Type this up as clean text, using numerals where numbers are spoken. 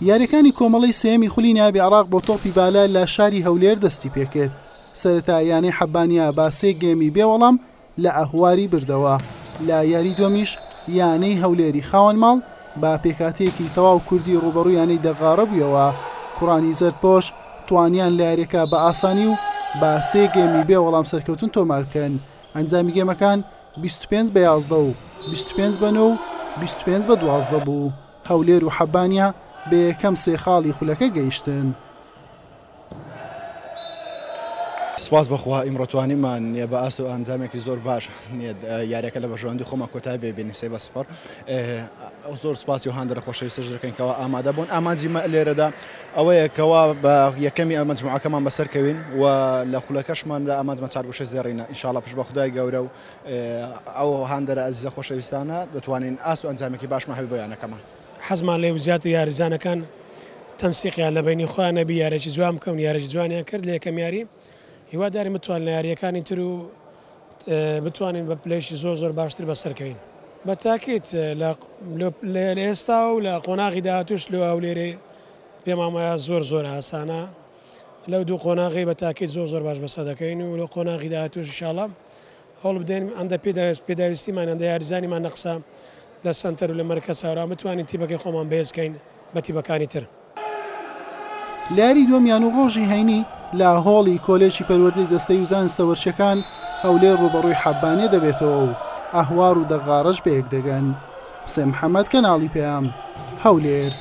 یاریەکانی کۆمەڵەی سێیەمی خولی نایابی عێراق بۆ تۆپی بالە لە شاری هەولێر دەستی پێکرد. سەرەتا یانەی حەبانیە بە سێ گێمی بێ وەڵام لە ئەهواری بردەوە، لە یاری دووەمیش یانەی هەولێری خاوەن ماڵ بە پێکهاتەیەکی تەواو کوردی ڕووبەڕووی یانەی دەغاڕە بوویەوە، کوڕانی زەردپۆش توانیان لە یاریەکە بە ئاسانی و بە سێ گێمی بێ وەڵام سەرکەوتن تۆمار بکەن، ئەنجامی گێمەکان 25 بە 11 و 25 بە 9 و 25 بە 12 بوو. هەولێر و حەبانیە بە یەکەم سێ خاڵی خولەکە گەیشتن. سپاس بەخوا ئیمڕۆ توانیمان نیە بە ئاست و ئەنجامێکی زۆر باش نیە یاریەکە لە بەرژەوەندی خۆمان کۆتای بێ بینی سێ بە سفر زۆر سپاسی و هاندەرە خۆشەویستەش دەکەین کەوا ئامادە بوون ئامانجی مە لێرەدا ئەوەیە کەوا بە یەکەمی ئەمە مەجموعەکەمان بەسەرکەوین و لە خولەکەشمان لە ئامانجمان چارگوشەی زێڕینە ئینشاڵا پشت بە خودای گەورە و ئەو هاندەرە ئەزیزە خۆشەویستانە دەتوانین ئاست و ئەنجامێکی باشمان هەبێت بۆ یانەکەمان. حەزمان لێ بوو زیاتر یاریزانەکان تەنسیقیان لە بەینی خۆیان نەبی یاریی جوان بکەون یاریی جوانیان کرد لە یەکەم یاری هیوادارین بتوان لە یارییەکانی تر و بتوانین بە پلەیەکی زۆر زۆر باشتر بەسەرکەوین. بە تاکید لە ئێستا و لە قۆناغی داهاتووش لۆ هەولێرێ پێمان وایە زۆر زۆر ئاسانە لەو دوو قۆناغەی بە تاکید زۆر زۆر باش بەسەر دەکەوین و لە قۆناغی داهاتووش ئینشاڵا هەوڵ بدەین ئەندە پێداویستیمان ئەندە یاریزانیمان نەقسە لە سەنتەر و لە مەرکەز هەورام بتوانین تیپەکەی خۆمان بەهێز کەین بە تیپەکانی تر. لە یاری دووەمیان و ڕۆژی هەینی لە هۆڵی کۆلێژی پەروەردەی جەستەیی و زانستە وەرشیەکان هەولێر ڕووبەڕووی حەبانیە دەبێتەوە و ئەهوار و دەغاڕەش بەیەک دەگەن. حوسێن محەمەد، کەناڵی پەیام، هەولێر.